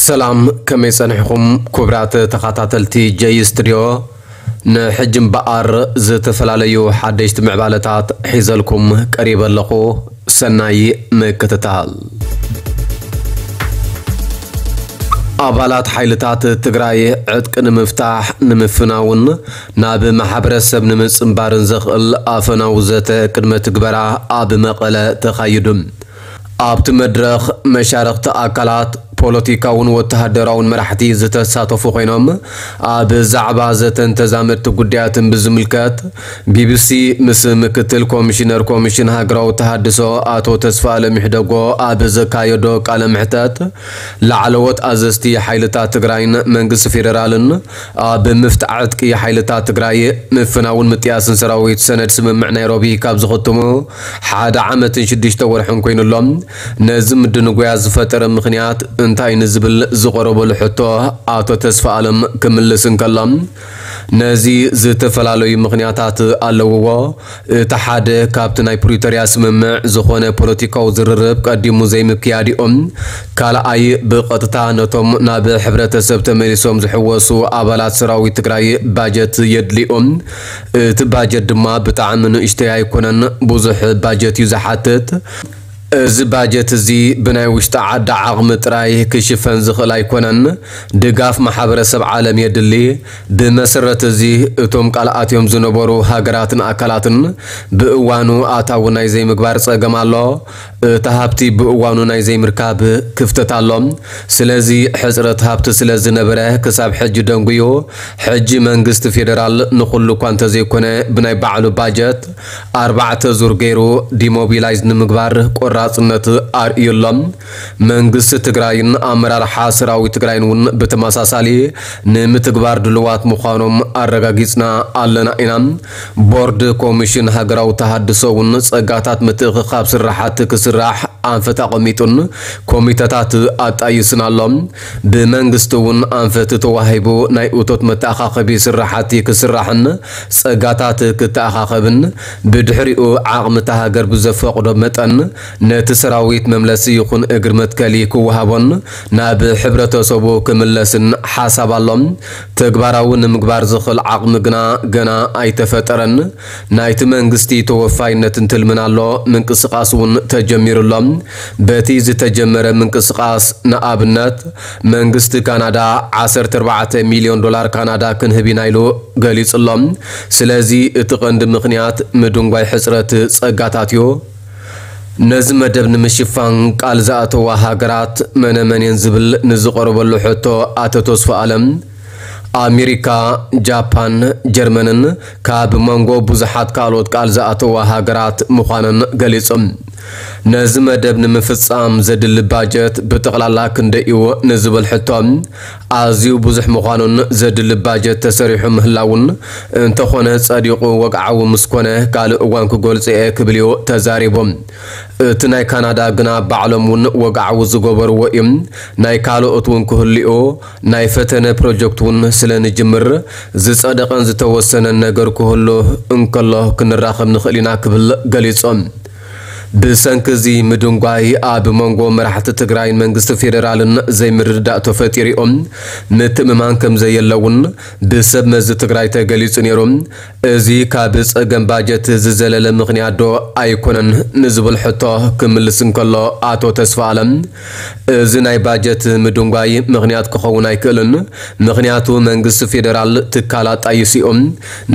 ሰላም፣ ከመይ ጸኒሕኹም ክቡራት ተኸታተልቲ ጀይ ስቱድዮ? ንሕጂ እምበኣር ዝተፈላለዩ ሓደሽቲ ምዕባለታት ሒዘልኩም ቀሪበ ኣለኹ። ሰናይ ምክትታል። ኣባላት ሓይልታት ትግራይ ዕጥቂ ንምፍታሕ ንምፍናውን ናብ ማሕበረሰብ ንምጽንባርን ዘኽእል ኣፈናዊ ዘተ ቅድመ ትግበራ ኣብ መቐለ ተኻይዱ። ኣብቲ መድረኽ መሻርኽቲ ኣካላት ፖለቲካውን ወተሃደራውን መራሕቲ ዝተሳተፉ ኮይኖም፣ ኣብ ዛዕባ ዘተን ተዛመድቲ ጉዳያትን ብዝምልከት ቢቢሲ ምስ ምክትል ኮሚሽነር ኮሚሽን ሃገራዊ ተሃድሶ ኣቶ ተስፋኣለም ይሕደጎ ኣብ ዘካየዶ ቃለ መሕተት፣ ላዕለዎት ኣዘዝቲ ሓይልታት ትግራይን መንግስቲ ፌደራልን ኣብ ምፍታሕ ዕጥቂ ሓይልታት ትግራይ ምፍናውን ምጥያስን ሰራዊት ሰነድ ስምምዕ ናይሮቢ ካብ ዝኽትሙ ሓደ ዓመትን ሽዱሽተ ወርሕን ኮይኑ ኣሎ። ነዚ ምድንጓያ ዝፈጠረ ምኽንያት እንታይ ንዝብል ዝቐረበሉ ሕቶ ኣቶ ተስፋኣለም ክምልስ እንከሎ፣ ነዚ ዝተፈላለዩ ምኽንያታት ኣለውዎ። እቲ ሓደ ካብቲ ናይ ፕሪቶርያ ስምምዕ ዝኾነ ፖለቲካዊ ዝርርብ ቀዲሙ ዘይምክያድኦም፣ ካልኣይ ብቐጥታ ነቶም ናብ ሕብረተሰብ ተመሊሶም ዝሕወሱ ኣባላት ሰራዊት ትግራይ ባጀት የድልዮም። እቲ ባጀት ድማ ብጣዕሚ ንእሽተይ ኣይኮነን፣ ብዙሕ ባጀት እዩ ዝሓትት። እዚ ባጀት እዚ ብናይ ውሽጢ ዓዲ ዓቕሚ ጥራይ ክሽፈን ዝኽእል ኣይኮነን። ድጋፍ ማሕበረሰብ ዓለም የድሊ። ብመሰረት እዚ እቶም ቃል ኣትዮም ዝነበሩ ሃገራትን ኣካላትን ብእዋኑ ኣታዊ ናይ ዘይምግባር ጸገም ኣሎ። እቲ ሃብቲ ብእዋኑ ናይ ዘይምርካብ ክፍተት ኣሎ። ስለዚ ሕጽረት ሃብቲ ስለ ዝነበረ ክሳብ ሕጂ ደንጉዩ። ሕጂ መንግስቲ ፌደራል ንኹሉ እኳ እንተዘይኮነ ብናይ ባዕሉ ባጀት ኣርባዕተ ዙር ገይሩ ዲሞቢላይዝ ንምግባር ቆራጽነት ኣርእዩ ኣሎ። መንግስቲ ትግራይን ኣመራርሓ ሰራዊት ትግራይን እውን ብተመሳሳሊ ንምትግባር ድልዋት ምዃኖም ኣረጋጊጽና ኣለና ኢና። ቦርድ ኮሚሽን ሃገራዊ ተሃድሶ እውን ጸጋታት ምትእኽኻብ ስራሓት ክስራሕ ኣንፈት ኣቐሚጡን ኮሚተታት ኣጣይስን ኣሎ። ብመንግስቲ እውን ኣንፈት ተዋሂቡ ናይ እቶት መተኣኻኸቢ ስራሓት ክስራሕን ጸጋታት ክተኣኻኸብን ብድሕሪኡ ዓቕሚ እታ ሃገር ብዘፈቕዶ መጠን ነቲ ሰራዊት መምለሲ ይኹን እግሪ መትከሊ ክወሃቦን ናብ ሕብረተሰቡ ክምለስን ሓሳብ ኣሎ። ተግባራዊ ንምግባር ዝኽእል ዓቕሚ ግና ገና ኣይተፈጠረን። ናይቲ መንግስቲ ተወፋይነትን ትልምን ኣሎ፣ ምንቅስቓስ እውን ተጀሚሩ ኣሎ። በቲ ዝተጀመረ ምንቅስቓስ ንኣብነት መንግስቲ ካናዳ ዓሰርተ ኣርባዕተ ሚልዮን ዶላር ካናዳ ክንህብ ኢና ኢሉ ገሊጹ ኣሎ። ስለዚ እቲ ቀንዲ ምኽንያት ምድንጓይ ሕጽረት ጸጋታት እዩ። ነዚ መደብ ንምሽፋን ቃል ዝኣተዋ ሃገራት መነመን እየን ዝብል ንዝቐረበሉ ሕቶ ኣቶ ተስፋ ኣለም ኣሜሪካ፣ ጃፓን፣ ጀርመንን ካብ መንጎ ብዙሓት ካልኦት ቃል ዝኣተዋ ሃገራት ምዃነን ገሊጾም። ነዚ መደብ ንምፍጻም ዘድሊ ባጀት ብጠቕላላ ክንደይ እዩ ንዝብል ሕቶ ኣዝዩ ብዙሕ ምዃኑን ዘድሊ ባጀት ተሰሪሑ ምህላውን እንተኾነ ጸዲቑ ወግዓዊ ምስ ኮነ ካልእ እዋን ክገልጾ እየ ክብል እዩ ተዛሪቡ። እቲ ናይ ካናዳ ግና ባዕሎም እውን ወግዓዊ ዝገበርዎ እዩ። ናይ ካልኦት እውን ክህልኡ ናይ ፈተነ ፕሮጀክት እውን ስለ ንጅምር ዝጸደቐን ዝተወሰነን ነገር ክህሉ እንከሎ ክንራኸብ ንኽእል ኢና ክብል ገሊጾም። ብሰንኪ እዚ ምድንጓይ ኣብ መንጎ መራሕቲ ትግራይን መንግስቲ ፌደራልን ዘይምርድዳእ ተፈጢሩ እዮም። ምትእምማን ከም ዘየለ እውን ብሰብ መዚ ትግራይ ተገሊጹ ነይሩ። እዚ ካብ ጸገም ባጀት ዝዘለለ ምኽንያት ዶ ኣይኮነን ንዝብል ሕቶ ክምልስ እንከሎ ኣቶ ተስፋ ኣለም፣ እዚ ናይ ባጀት ምድንጓይ ምኽንያት ክኸውን ኣይክእልን። ምኽንያቱ መንግስቲ ፌደራል ትካላት ጣይሱ እዮም።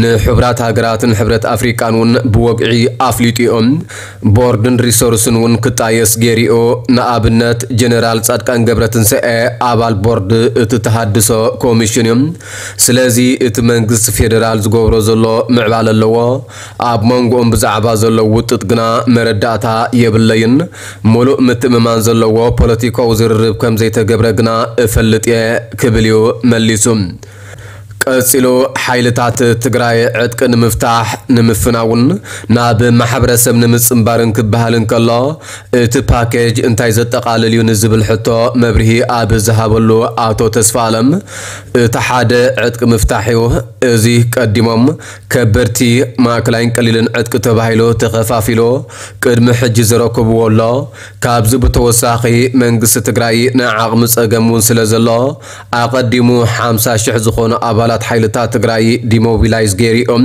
ንሕቡራት ሃገራትን ሕብረት ኣፍሪቃን እውን ብወግዒ ኣፍሊጡ እዮም። ቦርድን ሪሶርስን እውን ክጣየስ ገይሩ እዩ። ንኣብነት ጀነራል ጻድቃን ገብረትንሳኤ ኣባል ቦርድ እቲ ተሃድሶ ኮሚሽን እዩ። ስለዚ እቲ መንግስቲ ፌደራል ዝገብሮ ዘሎ ምዕባለ ኣለዎ። ኣብ መንጎኦም ብዛዕባ ዘሎ ውጥጥ ግና መረዳእታ የብለይን። ሙሉእ ምትእምማን ዘለዎ ፖለቲካዊ ዝርርብ ከም ዘይተገብረ ግና እፈልጥ እየ ክብል እዩ መሊሱ። ቀጺሉ፣ ሓይልታት ትግራይ ዕጥቂ ንምፍታሕ፣ ንምፍናውን ናብ ማሕበረሰብ ንምጽንባርን ክበሃል እንከሎ፣ እቲ ፓኬጅ እንታይ ዘጠቓልል እዩ ንዝብል ሕቶ መብርሂ ኣብ ዝሃበሉ ኣቶ ተስፋ ኣለም፣ እቲ ሓደ ዕጥቂ ምፍታሕ እዩ። እዚ ቀዲሞም ከበድቲ፣ ማእከላይን ቀሊልን ዕጥቂ ተባሂሉ ተኸፋፊሉ ቅድሚ ሕጂ ዝረከብዎ ኣሎ። ካብዚ ብተወሳኺ መንግስቲ ትግራይ ናይ ዓቕሚ ጸገም እውን ስለ ዘሎ፣ ኣቐዲሙ ሓምሳ ሽሕ ዝኾኑ ኣባላት ሓይልታት ትግራይ ዲሞቢላይዝ ገይሩ እዮም።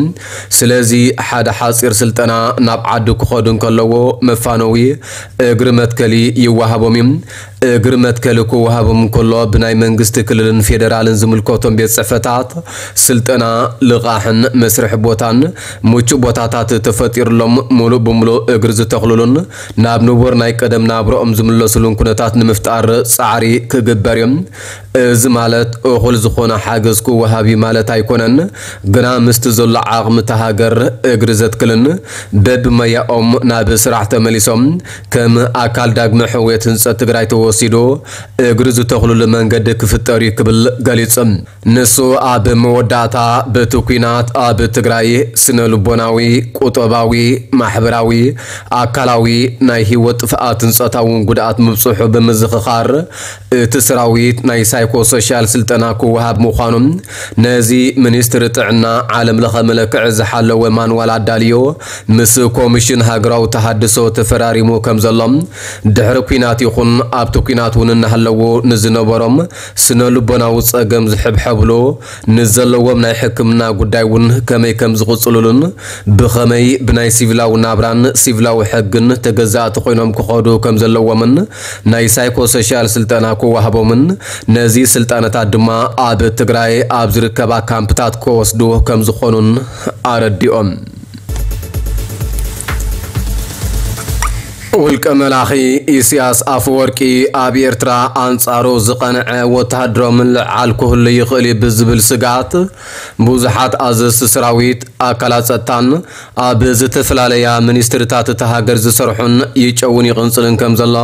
ስለዚ ሓደ ሓጺር ስልጠና ናብ ዓዲ ክኸዱ እንከለዎ መፋነዊ እግሪ መትከሊ ይወሃቦም እዩ። እግሪ መትከሊ ክወሃቦም እንከሎ ብናይ መንግስቲ ክልልን ፌደራልን ዝምልከቶም ቤት ጽሕፈታት ስልጠና፣ ልቓሕን መስርሒ ቦታን ምቹእ ቦታታት ተፈጢሩሎም ሙሉእ ብሙሉእ እግሪ ዝተኽልሉን ናብ ንቡር ናይ ቀደም ናብርኦም ዝምለስሉን ኩነታት ንምፍጣር ጻዕሪ ክግበር እዩ። እዚ ማለት እኹል ዝኾነ ሓገዝ ክወሃብ እዩ ማለት ኣይኮነን። ግና ምስቲ ዘሎ ዓቕሚ እታ ሃገር እግሪ ዘትክልን በብመያኦም ናብ ስራሕ ተመሊሶም ከም ኣካል ዳግመ ሕውየት ህንጸት ትግራይ ተወሲዱ እግሪ ዝተኽልሉ መንገዲ ክፍጠር እዩ ክብል ገሊጹ። ንሱ ኣብ መወዳእታ፣ በቲ ኲናት ኣብ ትግራይ ስነ ልቦናዊ፣ ቁጠባዊ፣ ማሕበራዊ፣ ኣካላዊ ናይ ህይወት ጥፍኣትን ጾታውን ጉድኣት ምብጽሑ ብምዝኽኻር፣ እቲ ሰራዊት ናይ ሳይኮሶሻል ስልጠና ክወሃብ ምዃኑን ነዚ ሚኒስትሪ ጥዕና ዓለም ለኸ መለክዒ ዝሓለወ ማንዋል ኣዳልዮ ምስ ኮሚሽን ሃገራዊ ተሃድሶ ተፈራሪሙ ከም ዘሎ፣ ድሕሪ ኲናት ይኹን ኣብቲ ኲናት እውን እናሃለዉ ንዝነበሮም ስነ ልቦናዊ ጸገም ዝሕብሐብሉ፣ ንዘለዎም ናይ ሕክምና ጉዳይ እውን ከመይ ከም ዝቕጽሉሉን ብኸመይ ብናይ ሲቪላዊ ናብራን ሲቪላዊ ሕግን ተገዛእቲ ኮይኖም ክኸዱ ከም ዘለዎምን ናይ ሳይኮሶሻል ስልጠና ክወሃቦምን ነዚ ስልጠናታት ድማ ኣብ ትግራይ ኣብ ዝርከባ ካምፕታት ክወስዱ ከም ዝኾኑን ኣረዲኦም። ውልቀ መላኺ ኢሳያስ ኣፈወርቂ ኣብ ኤርትራ ኣንጻሩ ዝቐንዐ ወተሃደራዊ ምልዕዓል ክህሉ ይኽእል እዩ ብዝብል ስግኣት ብዙሓት ኣዘዝቲ ሰራዊት፣ ኣካላት ጸጥታን ኣብ ዝተፈላለያ ሚኒስትሪታት እታ ሃገር ዝሰርሑን ይጨውን ይቕንጽልን ከም ዘሎ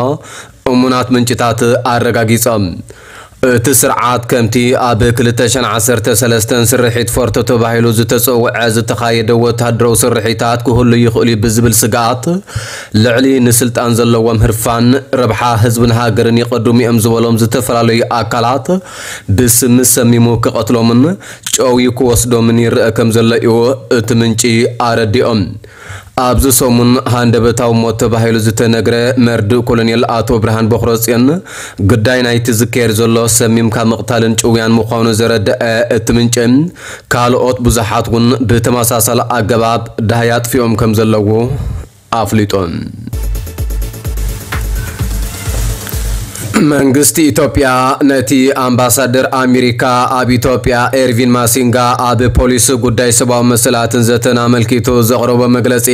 እሙናት ምንጭታት ኣረጋጊጾም። እቲ ስርዓት ከምቲ ኣብ ክልተ ሽሕን ዓሰርተ ሰለስተን ስርሒት ፎርቶ ተባሂሉ ዝተጸውዐ ዝተኻየደ ወተሃደራዊ ስርሒታት ክህሉ ይኽእል እዩ ብዝብል ስግኣት ልዕሊ ንስልጣን ዘለዎም ህርፋን ረብሓ ህዝብን ሃገርን ይቐድሙ እዮም ዝበሎም ዝተፈላለዩ ኣካላት ብስሚ ሰሚሙ ክቐትሎምን ጨውዩ ክወስዶምን ይረአ ከም ዘሎ እዩ እቲ ምንጪ ኣረዲኦም። ኣብዚ ሰሙን ሃንደበታዊ ሞት ተባሂሉ ዝተነግረ መርድእ ኮሎኔል ኣቶ ብርሃን በኽረጽዮን ግዳይ ናይቲ ዝካየድ ዘሎ ሰሚምካ ምቕታልን ጭውያን ምዃኑ ዘረደአ እቲ ምንጪ፣ ካልኦት ብዙሓት እውን ብተመሳሳሊ ኣገባብ ዳህያ ኣጥፊኦም ከም ዘለዉ ኣፍሊጡ። መንግስቲ ኢትዮጵያ ነቲ ኣምባሳደር ኣሜሪካ ኣብ ኢትዮጵያ ኤርቪን ማሲንጋ ኣብ ፖሊሲ ጉዳይ ሰብኣዊ መሰላትን ዘተን ኣመልኪቱ ዘቕረቦ መግለጺ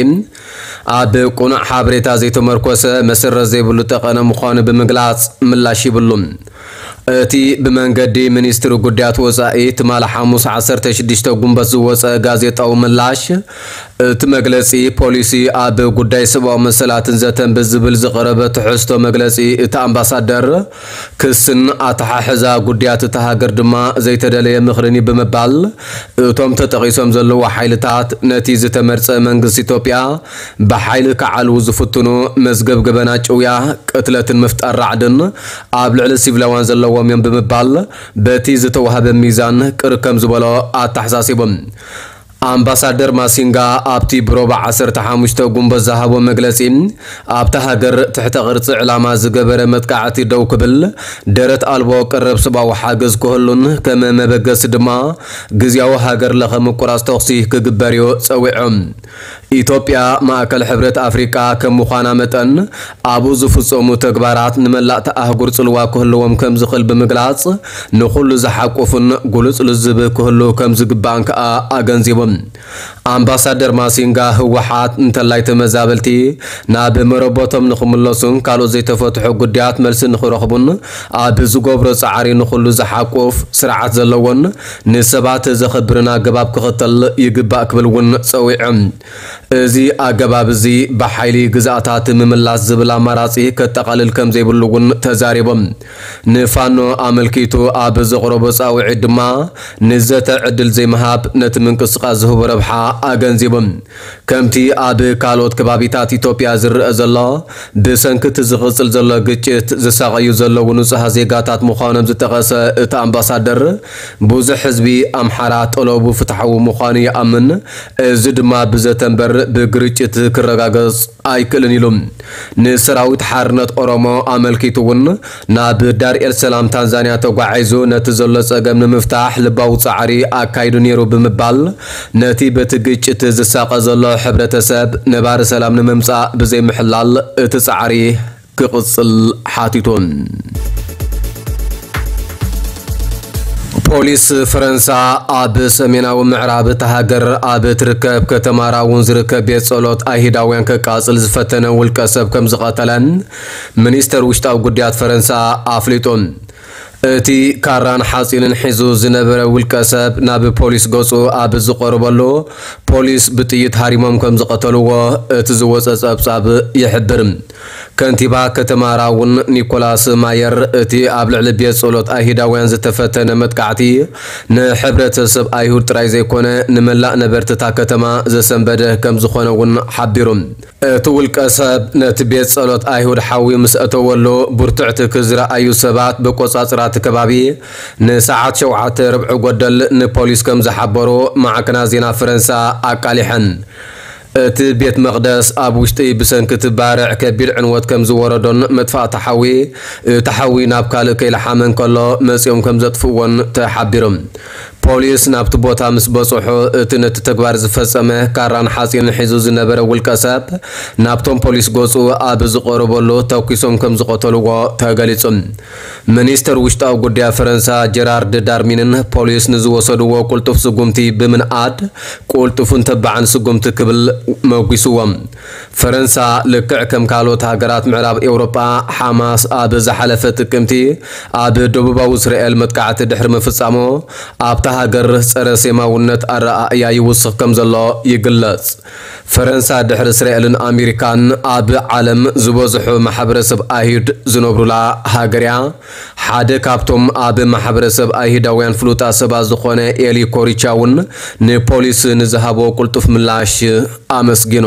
ኣብ ቅኑዕ ሓበሬታ ዘይተመርኮሰ መሰረት ዘይብሉ ጠቐነ ምዃኑ ብምግላጽ ምላሽ ይብሉ። እቲ ብመንገዲ ሚኒስትሪ ጉዳያት ወጻኢ ትማሊ ሓሙስ ዓሰርተ ሽዱሽተ ጉንበት ዝወጸ ጋዜጣዊ ምላሽ፣ እቲ መግለጺ ፖሊሲ ኣብ ጉዳይ ሰብኣዊ መሰላትን ዘተን ብዝብል ዝቐረበ ትሕዝቶ መግለጺ እቲ ኣምባሳደር ክስን ኣተሓሕዛ ጉዳያት እታ ሃገር ድማ ዘይተደለየ ምኽርን እዩ ብምባል፣ እቶም ተጠቒሶም ዘለዉ ሓይልታት ነቲ ዝተመርጸ መንግስቲ ኢትዮጵያ ብሓይሊ ክዓልዉ ዝፍትኑ መዝገብገበና ጭውያ፣ ቅትለትን ምፍጣር ራዕድን ኣብ ልዕሊ ሲቪላውያን ዘለዎም እዮም ብምባል በቲ ዝተዋህበ ሚዛን ቅር ከም ዝበሎ ኣተሓሳሲቦም። ኣምባሳደር ማሲንጋ ኣብቲ ብሮባ ዓሰርተ ሓሙሽተ ጉንበት ዝሃቦ መግለጺ፣ ኣብታ ሃገር ትሕተ ቅርጺ ዕላማ ዝገበረ መጥቃዕቲ ደው ክብል፣ ደረት ኣልቦ ቀረብ ሰብኣዊ ሓገዝ ክህሉን ከም መበገሲ ድማ ግዝያዊ ሃገር ለኸ ምቁራጽ ተኹሲ ክግበር እዩ ጸዊዑ። ኢትዮጵያ ማእከል ሕብረት ኣፍሪቃ ከም ምዃና መጠን ኣብኡ ዝፍጸሙ ተግባራት ንመላእታ ኣህጉር ጽልዋ ክህልዎም ከም ዝኽእል ብምግላጽ ንኹሉ ዝሓቁፍን ግሉጽ ልዝብ ክህሉ ከም ዝግባእን ከኣ ኣገንዚቡ። ኣምባሳደር ማሲንጋ ህወሓት እንተላይ ተመዛበልቲ ናብ መረበቶም ንኽምለሱን ካልኦት ዘይተፈትሑ ጉዳያት መልሲ ንኽረኽቡን ኣብ ዝገብሮ ጻዕሪ ንኹሉ ዝሓቁፍ ስርዓት ዘለዎን ንሰባት ዘኽብርን ኣገባብ ክኽተል ይግባእ ክብል እውን ጸዊዑ። እዚ ኣገባብ እዚ ብሓይሊ ግዝኣታት ምምላስ ዝብል ኣማራጺ ከጠቓልል ከም ዘይብሉ እውን ተዛሪቦም። ንፋኖ ኣመልኪቱ ኣብ ዘቕረቦ ጻውዒት ድማ፣ ንዘተ ዕድል ዘይምሃብ ነቲ ምንቅስቓስ ዝህቦ ረብሓ ኣገንዚቦም። ከምቲ ኣብ ካልኦት ከባቢታት ኢትዮጵያ ዝረአ ዘሎ፣ ብሰንኪ እቲ ዝቕጽል ዘሎ ግጭት ዝሳቐዩ ዘለዉ ንጹሃት ዜጋታት ምዃኖም ዝጠቐሰ እቲ ኣምባሳደር፣ ብዙሕ ህዝቢ ኣምሓራ ጠለቡ ፍትሓዊ ምዃኑ ይኣምን፣ እዚ ድማ ብዘተ እምበር ብግርጭት ክረጋገጽ ኣይክእልን ኢሉ። ንሰራዊት ሓርነት ኦሮሞ ኣመልኪቱ እውን፣ ናብ ዳር ኤል ሰላም ታንዛንያ ተጓዒዙ ነቲ ዘሎ ጸገም ንምፍታሕ ልባዊ ጻዕሪ ኣካይዱ ነይሩ ብምባል፣ ነቲ በቲ ግጭት ዝሳቐ ዘሎ ሕብረተሰብ ነባሪ ሰላም ንምምጻእ ብዘይምሕላል እቲ ጻዕሪ ክቕጽል ሓቲቱ። ፖሊስ ፈረንሳ ኣብ ሰሜናዊ ምዕራብ እታ ሃገር ኣብ ትርከብ ከተማ ራውን ዝርከብ ቤት ጸሎት ኣይሁዳውያን ከቃጽል ዝፈተነ ውልቀ ሰብ ከም ዝቐተለን ሚኒስተር ውሽጣዊ ጉዳያት ፈረንሳ ኣፍሊጡ። እቲ ካራን ሓጺንን ሒዙ ዝነበረ ውልቀ ሰብ ናብ ፖሊስ ገጹ ኣብ ዝቐርበሉ፣ ፖሊስ ብጥይት ሃሪሞም ከም ዝቐተልዎ እቲ ዝወጸ ጸብጻብ ይሕብር። ከንቲባ ከተማ ራውን ኒኮላስ ማየር፣ እቲ ኣብ ልዕሊ ቤት ጸሎት ኣይሁዳውያን ዝተፈተነ መጥቃዕቲ ንሕብረተሰብ ኣይሁድ ጥራይ ዘይኮነ፣ ንመላእ ነበርቲ እታ ከተማ ዘሰንበደ ከም ዝኾነ እውን ሓቢሩ። እቲ ውልቀ ሰብ ነቲ ቤት ጸሎት ኣይሁድ ሓዊ ምስ ኣተወሉ፣ ብርቱዕ ትኪ ዝረኣዩ ሰባት ብቆጻጽራ እቲ ከባቢ ንሰዓት ሸውዓተ ርብዒ ጎደል ንፖሊስ ከም ዝሓበሩ ማዕከናት ዜና ፈረንሳ ኣቃሊሐን። እቲ ቤት መቕደስ ኣብ ውሽጢ ብሰንኪ እቲ ባርዕ ከቢድ ዕንወት ከም ዝወረዶን መጥፋእቲ ሓዊ፣ እቲ ሓዊ ናብ ካልእ ከይለሓመ እንከሎ መጺኦም ከም ዘጥፍእዎን ተሓቢሩ። ፖሊስ ናብቲ ቦታ ምስ በጽሑ፣ እቲ ነቲ ተግባር ዝፈጸመ ካራን ሓጺንን ሒዙ ዝነበረ ውልቀ ሰብ ናብቶም ፖሊስ ገጹ ኣብ ዝቐረበሉ ተኲሶም ከም ዝቐተልዎ ተገሊጹ። ሚኒስተር ውሽጣዊ ጉዳይ ፈረንሳ ጀራርድ ዳርሚንን ፖሊስ ንዝወሰድዎ ቅልጡፍ ስጉምቲ ብምንኣድ፣ ቅልጡፍን ተባዕን ስጉምቲ ክብል መጒስዎም። ፈረንሳ ልክዕ ከም ካልኦት ሃገራት ምዕራብ ኤውሮጳ፣ ሓማስ ኣብ ዝሓለፈ ጥቅምቲ ኣብ ደቡባዊ እስራኤል መጥቃዕቲ ድሕሪ ምፍጻሙ፣ ኣብታ ሃገር ጸረ ሴማውነት ኣረኣእያ ይውስኽ ከም ዘሎ ይግለጽ። ፈረንሳ ድሕሪ እስራኤልን ኣሜሪካን ኣብ ዓለም ዝበዝሑ ማሕበረሰብ ኣይሁድ ዝነብሩላ ሃገር እያ። ሓደ ካብቶም ኣብ ማሕበረሰብ ኣይሁዳውያን ፍሉጣት ሰባት ዝኾነ ኤሊ ኮሪቻ እውን ንፖሊስ ንዝሃቦ ቅልጡፍ ምላሽ ኣመስጊኑ።